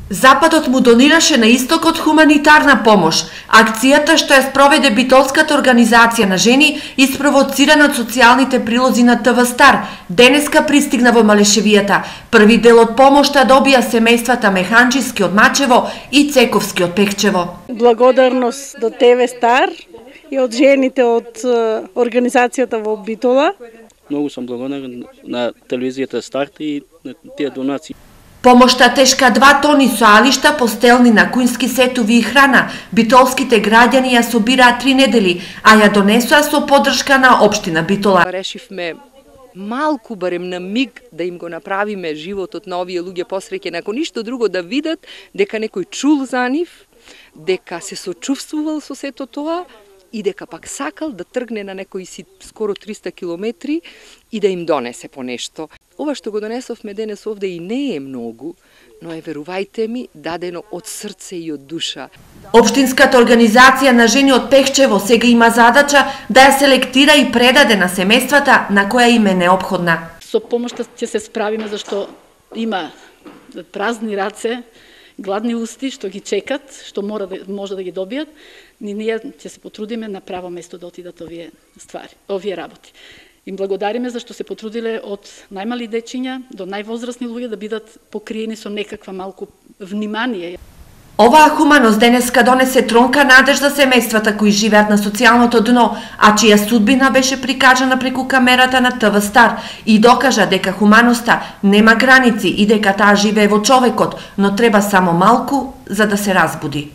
Западот му донираше на истокот хуманитарна помош. Акцијата што ја спроведе битолската организација на жени, испровоцирана од социјалните прилози на ТВ Стар, денеска пристигна во Малешевијата. Први дел од помошта добија семејствата Механџиски од Мачево и Цековски од Пехчево. Благодарност до ТВ Стар и од жените од организацијата во Битола. Многу сум благодарен на телевизијата Старт и на тие донации. Помошта тешка 2 тони со алишта, постелни на кујнски сетови и храна. Битолските граѓани ја собираа 3 недели, а ја донесоа со поддршка на општина Битола. Решивме малку, барем на миг, да им го направиме животот на овие луѓе посреќен, ако ништо друго да видат дека некој чул за нив, дека се сочувствувал со сето тоа и дека пак сакал да тргне на некои си скоро 300 километри и да им донесе по нешто. Ова што го донесовме денес овде и не е многу, но е, верувајте ми, дадено од срце и од душа. Општинската организација на жени од Пехчево сега има задача да ја селектира и предаде на семејствата на која им е неопходна. Со помошта ќе се справиме, зашто има празни раце, гладни усти што ги чекат, што може да ги добијат, ние ќе се потрудиме на право место да отидат овие ствари, овие работи. Им благодариме зашто се потрудиле од најмали дечиња до највозрасни луѓе да бидат покриени со некаква малку внимание. Оваа хуманост денеска донесе тронка надеж за семејствата кои живеат на социјалното дно, а чија судбина беше прикажана преку камерата на ТВ Стар и докажа дека хуманоста нема граници и дека таа живее во човекот, но треба само малку за да се разбуди.